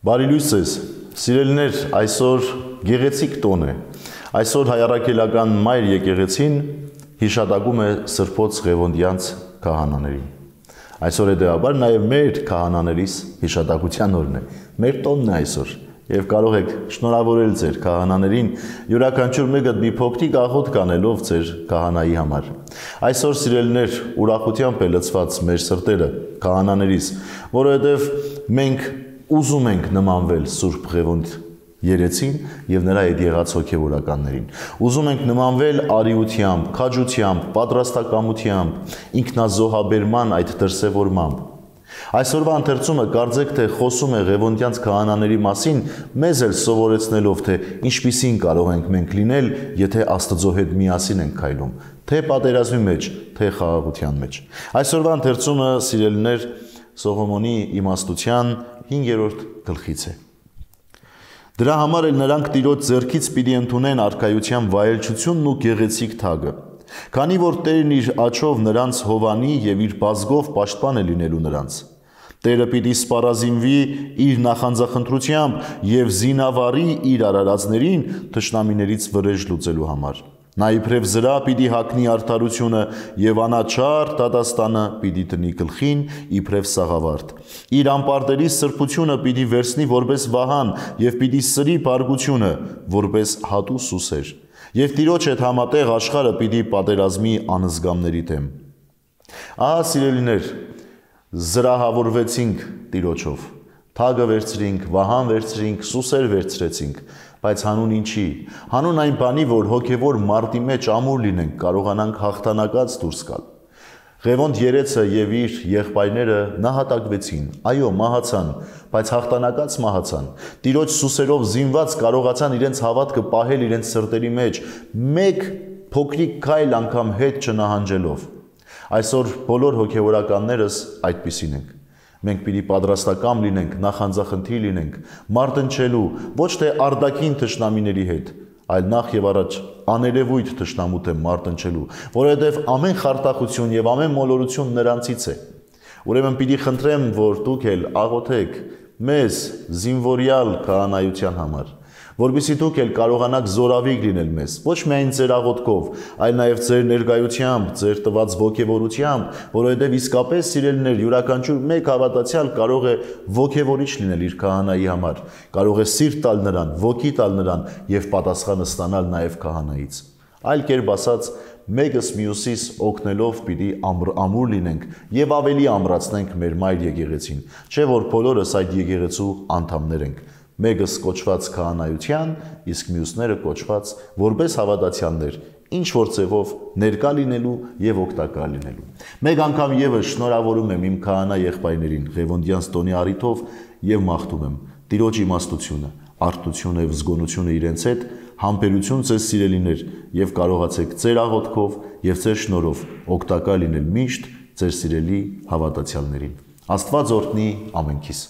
Բարի լույս ձեզ, սիրելիներ, այսօր գեղեցիկ տոն է, այսօր հայառաքելական մայր եկեղեցին հիշատակում է Սրբոց Ղևոնդյանց քահանաներին։ Այսօր հետևաբար նաև մեր քահանաներիս հիշատակության օրն է, մեր տոնն է այսօր, եւ կարող եք շնորհավորել ձեր քահանաներին, յուրաքանչյուր մեկը մի փոքրիկ աղոթք անելով ձեր քահանայի համար։ Այսօր սիրելիներ, ուրախությամբ է լցված մեր սրտերը քահանաներիս, որովհետև մենք ուզում ենք նմանվել Սուրբ Ղևոնդ երեցին եւ նրա հետ եղած հոգեվորականներին։ Ուզում ենք նմանվել արիությամբ, քաջությամբ, պատրաստակամությամբ, ինքնազոհաբերման այդ դրսևորմամբ։ Այսօրվա ընթերցումը կարծեք թե խոսում է Ղևոնդյանց քահանաների մասին, մեզ էլ սովորեցնելով թե ինչպիսին կարող ենք մենք լինել, եթե Աստծո հետ միասին ենք քայլում, թե պատերազմի մեջ, թե խաղաղության մեջ։ Այսօրվա ընթերցումը, սիրելիներ, Սողոմոնի իմաստության 5-րդ գլխից է։ Դրա համար էլ նրանք Տիրոջ ձեռքից պիտի ընդունեն արքայության վայելչությունն ու գեղեցիկ թագը, քանի որ Տերն իր աջով նրանց հովանի եւ իր բազգով պաշտպան է լինելու նրանց։ Տերը պիտի սպառազինվի իր նախանձախնդրությամբ եւ զինավարի իր արարածներին թշնամիներից վրեժ լուծելու համար։ Նա իբրև զրա պիտի հագնի արդարությունը եւ անաչառ դատաստանը պիտի դնի գլխին իբրև սաղավարտ։ Իր ամպարտերի սրբությունը պիտի վերցնի որպես վահան եւ պիտի սրի բարգությունը որպես հատու սուսեր։ Եվ Տիրոջ հետ համատեղ աշխարհը պիտի պատերազմի անզգամների դեմ։ Ահա սիրելիներ, զրահավորվեցինք Տիրոջով։ Թագը վերցրինք, վահան վերցրինք, սուսեր վերցրեցինք, բայց հանուն ինչի։ Հանուն այն բանի, որ հոգևոր մարտի մեջ ամուր լինենք, կարողանանք հաղթանակած դուրս գալ։ Ղևոնդ երեցը եւ իր եղբայրները նահատակվեցին, այո, մահացան, բայց հաղթանակած մահացան։ Տիրոջ սուսերով զինված կարողացան իրենց հավատքը պահել իրենց սրտերի մեջ, մեկ փոքրիկ քայլ անգամ հետ չնահանջելով։ Այսօր բոլոր հոգևորականներս այդպիսին ենք։ Մենք պիտի պատրաստակամ լինենք, նախանձախնդիր լինենք, մարտնչելու, ոչ թե արտաքին թշնամիների հետ, այլ նախ եւ առաջ աներևույթ թշնամու դեմ մարտնչելու, որովհետեւ ամեն խարդախություն եւ ամեն մոլորություն նրանցից է։ Ուրեմն պիտի խնդրեմ, որ դուք էլ աղոթեք մեզ զինվորյալ քահանայության համար, որպեսզի դուք էլ կարողանաք զորավիգ լինել մեզ, ոչ միայն ձեր աղոթքով, այլ նաև ձեր ներկայությամբ, ձեր տված ոգևորությամբ, որովհետև իսկապես սիրելիներ, յուրաքանչյուր մեկ հավատացյալ կարող է ոգևորիչ լինել իր քահանայի համար, կարող է սիրտ տալ նրան, ոգի տալ նրան եւ պատասխանը ստանալ նաև քահանայից։ Այլ կերպ ասած, մեկս մյուսիս օգնելով պիտի ամուր լինենք եւ ավելի ամրացնենք մեր մայր եկեղեցին, չէ որ բոլորս այդ եկեղեցու անդամներ ենք։ Մեկս կոչված քահանայության, իսկ մյուսները կոչված որպես հավատացյալներ, ինչ որ ձևով ներկա լինելու եւ օգտակար լինելու։ Մեկ անգամ եւս շնորհավորում եմ իմ քահանա եղբայրներին Ղևոնդյանց տոնի առիթով եւ մաղթում եմ Տիրոջ իմաստությունը, արթությունը եւ զգոնությունը իրենց հետ, համբերություն ձեզ սիրելիներ եւ կարողացեք ձեր աղոթքով եւ ձեր շնորհով օգտակար լինել միշտ ձեր սիրելի հավատացյալներին։ Աստված օրհնի ամենքիս։